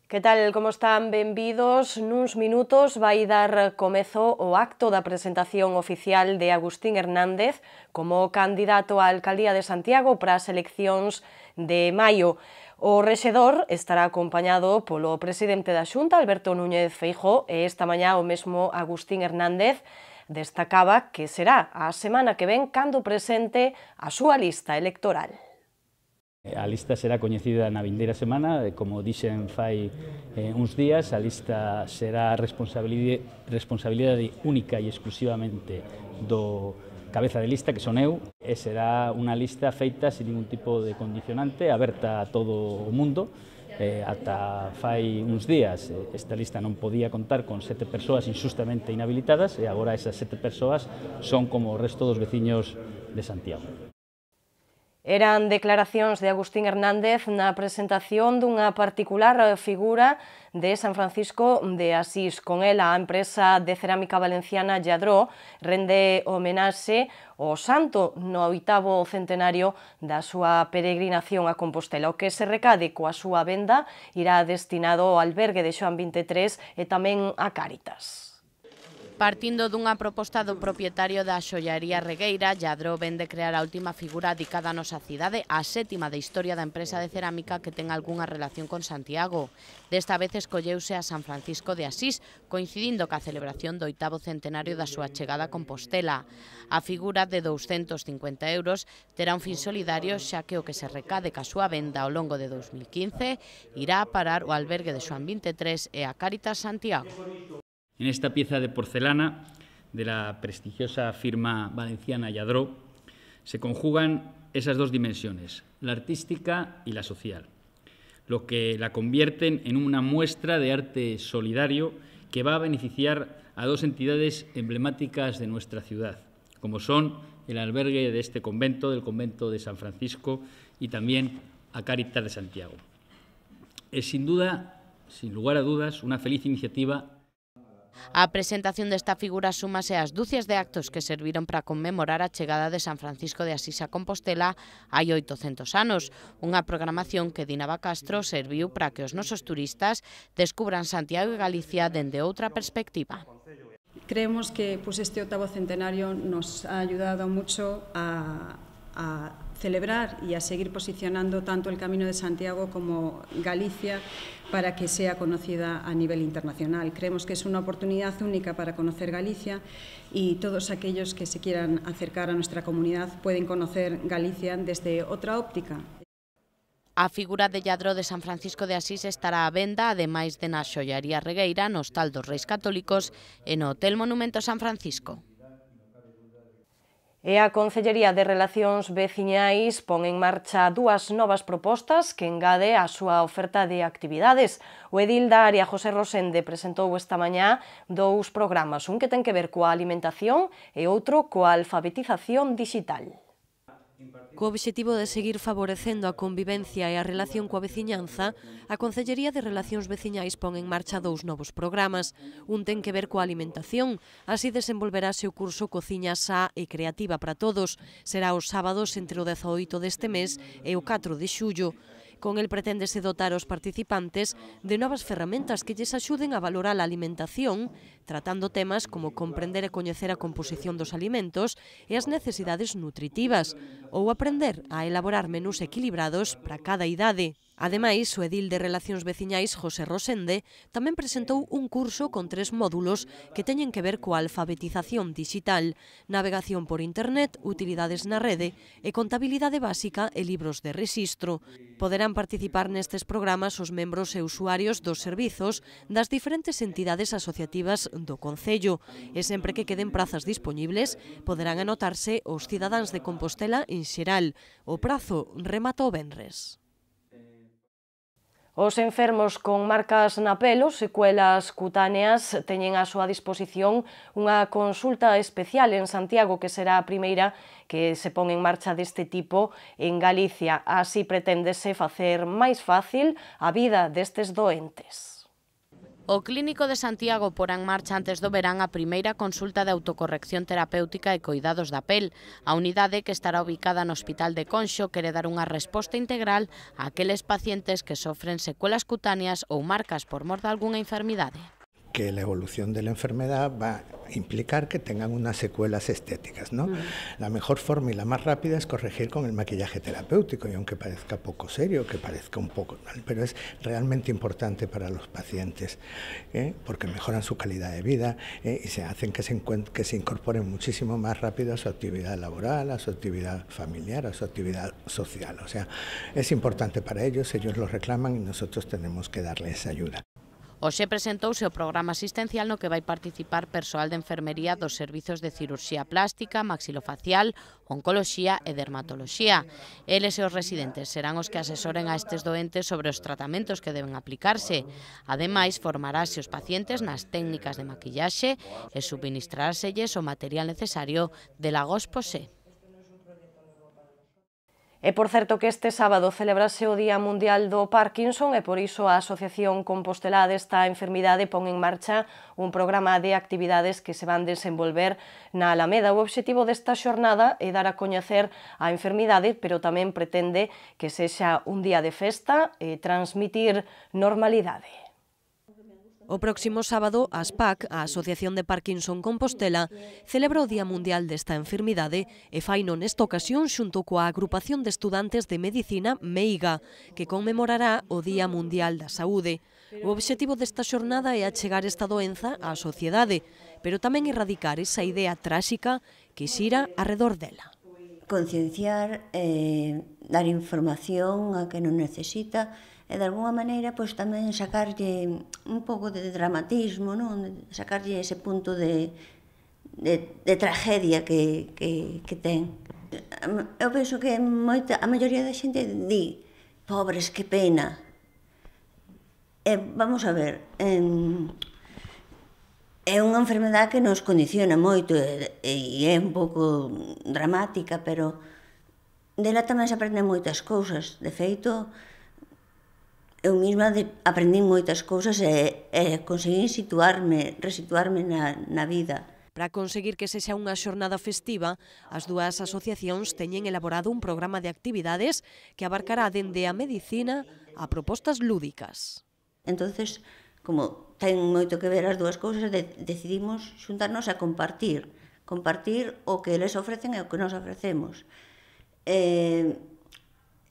Que tal, como están? Benvidos. Nuns minutos vai dar comezo o acto da presentación oficial de Agustín Hernández como candidato á alcaldía de Santiago para as eleccións de maio. O rexedor estará acompañado polo presidente da Xunta, Alberto Núñez Feijóo, e esta mañá o mesmo Agustín Hernández destacaba que será a semana que ven cando presente a súa lista electoral. A lista será coñecida na vindeira semana, como dixen fai uns días, a lista será responsabilidade única e exclusivamente do cabeza de lista, que son eu, e será unha lista feita sin ningún tipo de condicionante, aberta a todo o mundo. Ata fai uns días esta lista non podía contar con 7 persoas injustamente inhabilitadas e agora esas 7 persoas son como o resto dos veciños de Santiago. Eran declaracións de Agustín Hernández na presentación dunha particular figura de San Francisco de Asís. Con ela, a empresa de cerámica valenciana Lladró rende homenaxe ao santo no 8º centenario da súa peregrinación a Compostela. O que se recade coa súa venda irá destinado ao albergue de Xoán 23 e tamén a Cáritas. Partindo dunha proposta do propietario da xollaría Regueira, Lladró vende crear a última figura dedicada á nosa cidade, a 7ª da historia da empresa de cerámica que ten algunha relación con Santiago. Desta vez escolleuse a San Francisco de Asís, coincidindo ca celebración do 8º centenario da súa chegada a Compostela. A figura de 250 € terá un fin solidario, xa que o que se recade ca súa venda ao longo de 2015 irá a parar o albergue de Xoán 23 e a Cáritas Santiago. En esta pieza de porcelana de la prestigiosa firma valenciana Lladró se conjugan esas dos dimensiones, la artística y la social, lo que la convierten en una muestra de arte solidario que va a beneficiar a dos entidades emblemáticas de nuestra ciudad, como son el albergue de este convento, del convento de San Francisco, y también a Cáritas de Santiago. Es sin duda, sin lugar a dudas, una feliz iniciativa. A presentación desta figura súmase ás dúcias de actos que serviron para conmemorar a chegada de San Francisco de Asís a Compostela hai 800 anos, unha programación que Dinava Castro serviu para que os nosos turistas descubran Santiago e Galicia dende outra perspectiva. Creemos que este 8º centenario nos ha ayudado mucho a celebrar y a seguir posicionando tanto el Camino de Santiago como Galicia para que sea conocida a nivel internacional. Creemos que es una oportunidad única para conocer Galicia y todos aquellos que se quieran acercar a nuestra comunidad pueden conocer Galicia desde otra óptica. A figura de Lladró de San Francisco de Asís estará á venda, ademais de na xollaría Regueira, no Hostal dos Reis Católicos e no Hotel Monumento San Francisco. E a Concellería de Relacións Veciñais pon en marcha dúas novas propostas que engade á súa oferta de actividades. O edil da área, José Rosende, presentou esta mañá dous programas, un que ten que ver coa alimentación e outro coa alfabetización digital. Co obxectivo de seguir favorecendo a convivencia e a relación coa veciñanza, a Concellería de Relacións Veciñais pon en marcha dous novos programas. Un ten que ver coa alimentación, así desenvolverase o curso Cociña Sá e Creativa para Todos. Será os sábados entre o 18 deste mes e o 4 de xullo. Con el preténdese dotar os participantes de novas ferramentas que lles axuden a valorar a alimentación, tratando temas como comprender e coñecer a composición dos alimentos e as necesidades nutritivas, ou aprender a elaborar menús equilibrados para cada idade. Ademais, o edil de Relacións Veciñais, José Rosende, tamén presentou un curso con 3 módulos que teñen que ver coa alfabetización digital, navegación por internet, utilidades na rede e contabilidade básica e libros de rexistro. Poderán participar nestes programas os membros e usuarios dos servizos das diferentes entidades asociativas do Concello e sempre que queden prazas dispoñibles poderán anotarse os cidadáns de Compostela en xeral. O prazo remata o venres. Os enfermos con marcas na pelo, secuelas cutáneas, teñen á súa disposición unha consulta especial en Santiago que será a primeira que se pon en marcha deste tipo en Galicia. Así preténdese facer máis fácil a vida destes doentes. O Clínico de Santiago porá en marcha antes do verán a primeira consulta de autocorrección terapéutica e coidados da pel. A unidade, que estará ubicada no Hospital de Conxo, quere dar unha resposta integral a aqueles pacientes que sofren secuelas cutáneas ou marcas por mor de algunha enfermidade. Que la evolución de la enfermedad va a implicar que tengan unas secuelas estéticas, ¿no? La mejor forma y la más rápida es corregir con el maquillaje terapéutico, y aunque parezca poco serio, que parezca un poco mal, pero es realmente importante para los pacientes, porque mejoran su calidad de vida y se hacen que se incorporen muchísimo más rápido a su actividad laboral, a su actividad familiar, a su actividad social. O sea, es importante para ellos lo reclaman y nosotros tenemos que darles ayuda. Hoxe presentouse o programa asistencial no que vai participar persoal de enfermería dos servizos de cirurxía plástica, maxilofacial, oncoloxía e dermatoloxía. Eles e os residentes serán os que asesoren a estes doentes sobre os tratamentos que deben aplicarse. Ademais, formarase os pacientes nas técnicas de maquillaxe e subministrárselles o material necesario de Lagos Posé. E por certo que este sábado celebrase o Día Mundial do Parkinson e por iso a Asociación Compostelá desta enfermidade pon en marcha un programa de actividades que se van desenvolver na Alameda. O obxectivo desta xornada é dar a coñecer a enfermidade, pero tamén pretende que sexa un día de festa e transmitir normalidade. O próximo sábado, a ASPAC, a Asociación de Parkinson Compostela, celebra o Día Mundial desta enfermidade e faino nesta ocasión xunto coa Agrupación de Estudantes de Medicina MEIGA, que conmemorará o Día Mundial da Saúde. O obxectivo desta xornada é achegar esta doenza á sociedade, pero tamén erradicar esa idea tráxica que xira arredor dela. Concienciar, dar información a que non necesita, e de alguna maneira pois tamén sacarlle un pouco de dramatismo, non? Sacarlle ese punto de tragedia que ten. Eu penso que a maioría da xente di, pobres, que pena. Vamos a ver, é unha enfermedade que nos condiciona moito e é un pouco dramática, pero dela tamén se aprenden moitas cousas. De feito, eu mesma aprendín moitas cousas e conseguín resituarme na vida. Para conseguir que sexa unha xornada festiva, as dúas asociacións teñen elaborado un programa de actividades que abarcará dende a medicina a propostas lúdicas. Entonces, como ten moito que ver as dúas cousas, decidimos xuntarnos a compartir o que eles ofrecen e o que nos ofrecemos.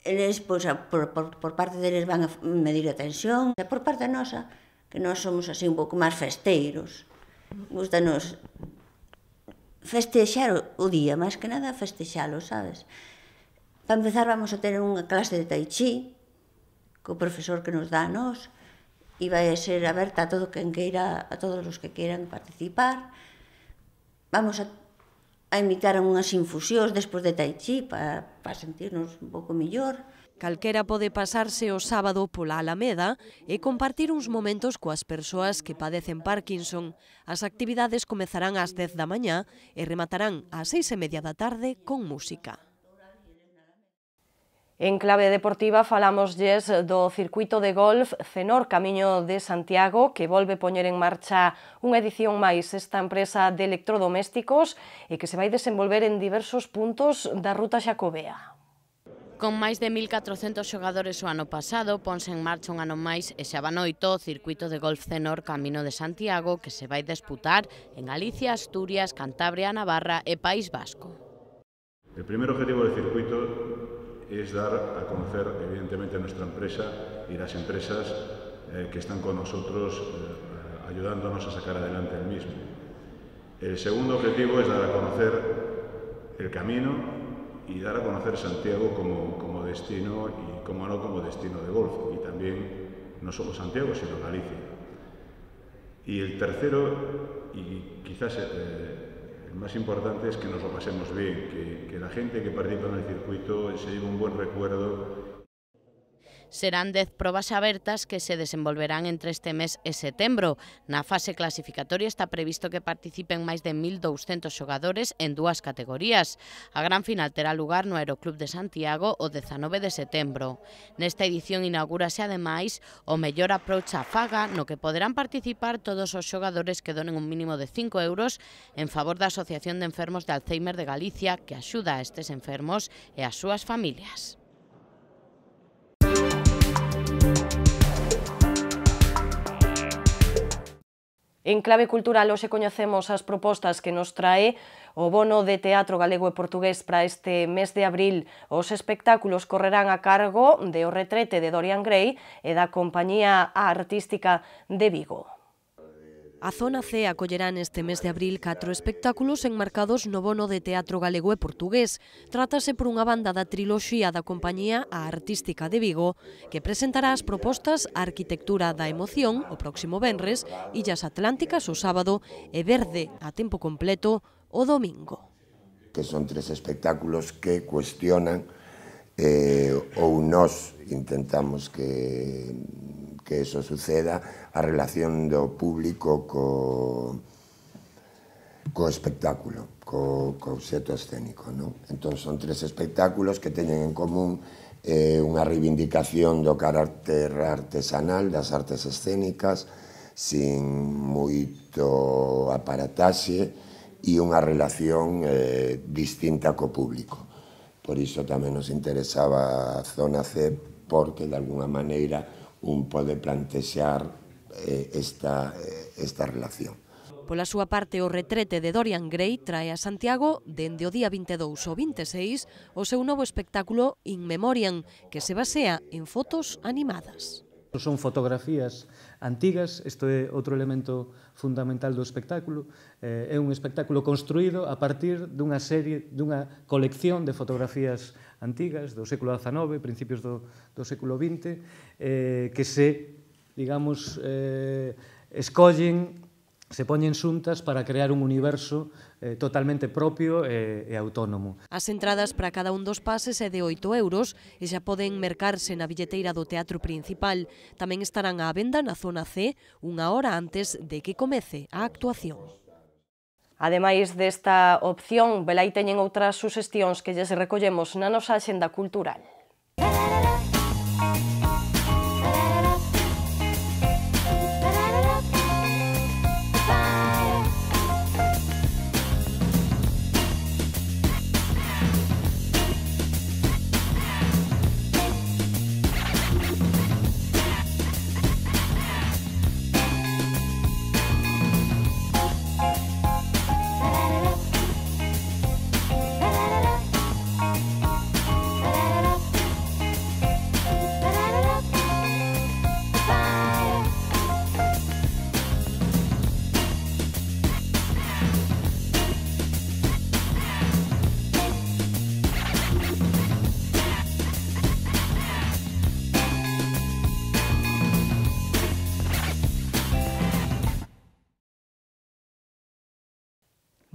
Eles, pois, por parte deles van a medir a tensión, e por parte nosa, que nós somos así un pouco máis festeiros. Gústanos festexar o día, máis que nada festexalo, sabes? Para empezar, vamos a ter unha clase de tai chi, co profesor que nos dá a nós, e vai a ser aberta a todo quen queira, a todos os que queiran participar. Vamos a invitar a unhas infusións despois de tai chi para sentirnos un pouco mellor. Calquera pode pasarse o sábado pola Alameda e compartir uns momentos coas persoas que padecen Parkinson. As actividades comezarán ás 10 da mañá e rematarán ás 6:30 da tarde con música. En clave deportiva falámoslles do circuito de golf Cenor Camiño de Santiago, que volve poñer en marcha unha edición máis esta empresa de electrodomésticos e que se vai desenvolver en diversos puntos da ruta xacobea. Con máis de 1.400 xogadores o ano pasado, ponse en marcha un ano máis e xa vanoito o circuito de golf Cenor Camiño de Santiago, que se vai disputar en Galicia, Asturias, Cantabria, Navarra e País Vasco. El primer objetivo del circuito es dar a conocer, evidentemente, nuestra empresa y las empresas que están con nosotros ayudándonos a sacar adelante el mismo. El segundo objetivo es dar a conocer el camino y dar a conocer Santiago como destino y, como no, como destino de golf, y también no solo Santiago, sino Galicia. Y el tercero, y quizás el más importante, es que nos lo pasemos bien, que la gente que participa en el circuito se lleve un buen recuerdo. Serán 10 probas abertas que se desenvolverán entre este mes e setembro. Na fase clasificatoria está previsto que participen máis de 1.200 xogadores en 2 categorías. A gran final terá lugar no Aeroclub de Santiago o 19 de setembro. Nesta edición inaugúrase ademais o mellor approach á faga, no que poderán participar todos os xogadores que donen un mínimo de 5 euros en favor da Asociación de Enfermos de Alzheimer de Galicia, que axuda a estes enfermos e as súas familias. En clave cultural, hoxe coñecemos as propostas que nos trae o bono de teatro galego e portugués para este mes de abril. Os espectáculos correrán a cargo de O retrete de Dorian Gray e da Compañía Artística de Vigo. A Zona C acollerá neste mes de abril 4 espectáculos enmarcados no bono de teatro galego e portugués. Trátase por unha banda da triloxía da Compañía Artística de Vigo, que presentará as propostas Arquitectura da Emoción o próximo venres, Illas Atlánticas o sábado e Verde a tempo completo o domingo. Que son 3 espectáculos que cuestionan ou nós intentamos que eso suceda, a relación do público co espectáculo, co obxecto escénico. Entón, son 3 espectáculos que teñen en común unha reivindicación do carácter artesanal, das artes escénicas, sin moito aparataxe e unha relación distinta co público. Por iso tamén nos interesaba a Zona C, porque de alguna maneira un pode plantexar esta relación. Pola súa parte, O retrete de Dorian Gray trae a Santiago dende o día 22 ao 26 o seu novo espectáculo In Memoriam, que se basea en fotos animadas. Son fotografías antigas, isto é outro elemento fundamental do espectáculo. É un espectáculo construído a partir dunha colección de fotografías antigas do século XIX, principios do século XX, que se, digamos, escollen, se poñen xuntas para crear un universo totalmente propio e autónomo. As entradas para cada un dos pases é de 8 euros e xa poden mercarse na billeteira do Teatro Principal. Tamén estarán á venda na Zona C unha hora antes de que comece a actuación. Ademais desta opción, velai teñen outras suxestións que lles recollemos na nosa axenda cultural.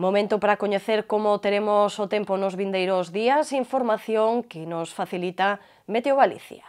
Momento para coñecer como teremos o tempo nos vindeiros días, información que nos facilita Meteo Galicia.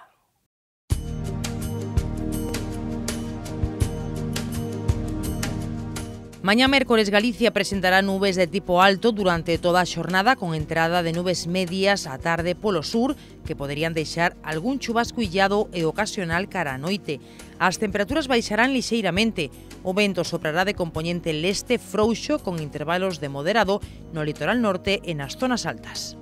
Mañá mércores Galicia presentará nubes de tipo alto durante toda a xornada, con entrada de nubes medias á tarde polo sur, que poderían deixar algún chubasco illado e ocasional cara á noite. As temperaturas baixarán lixeiramente. O vento soprará de compoñente leste frouxo, con intervalos de moderado no litoral norte e nas zonas altas.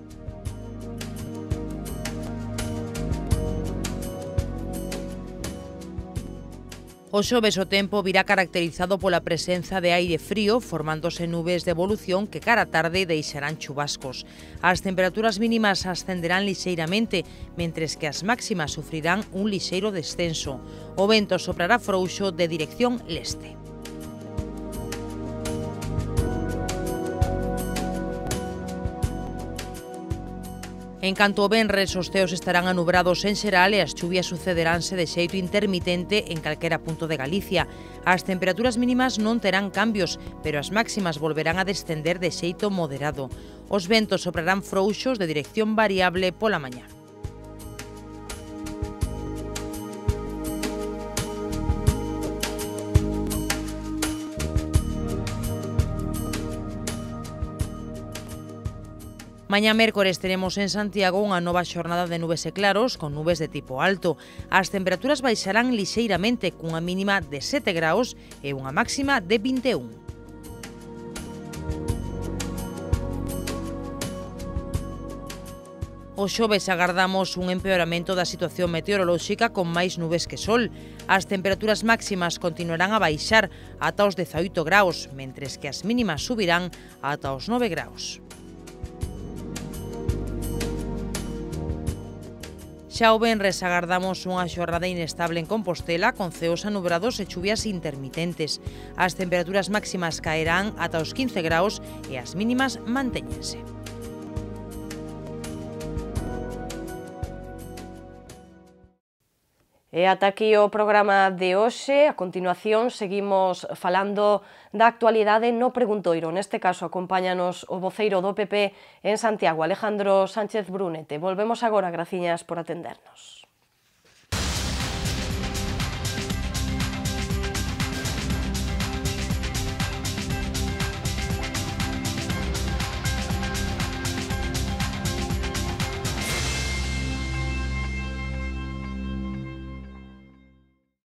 O xoves o tempo virá caracterizado pola presenza de aire frío, formándose nubes de evolución que cara tarde deixarán chubascos. As temperaturas mínimas ascenderán lixeiramente, mentres que as máximas sufrirán un lixeiro descenso. O vento soprará frouxo de dirección leste. En canto ao venres, os ceos estarán anubrados en xeral e as chuvias sucederánse de xeito intermitente en calquera punto de Galicia. As temperaturas mínimas non terán cambios, pero as máximas volverán a descender de xeito moderado. Os ventos soprarán frouxos de dirección variable pola mañá. Mañá mércores teremos en Santiago unha nova xornada de nubes e claros con nubes de tipo alto. As temperaturas baixarán lixeiramente cunha mínima de 7 graus e unha máxima de 21. O xoves agardamos un empeoramento da situación meteorolóxica con máis nubes que sol. As temperaturas máximas continuarán a baixar ata os 18 graus, mentres que as mínimas subirán ata os 9 graus. Xa o venres agardamos unha xornada inestable en Compostela con ceos anubrados e chuvias intermitentes. As temperaturas máximas caerán ata os 15 graus e as mínimas mantéñense. E ata aquí o programa de hoxe. A continuación seguimos falando da actualidade no preguntoiro. Neste caso acompáñanos o voceiro do PP en Santiago, Alejandro Sánchez Brunete. Volvemos agora, graciñas por atendernos.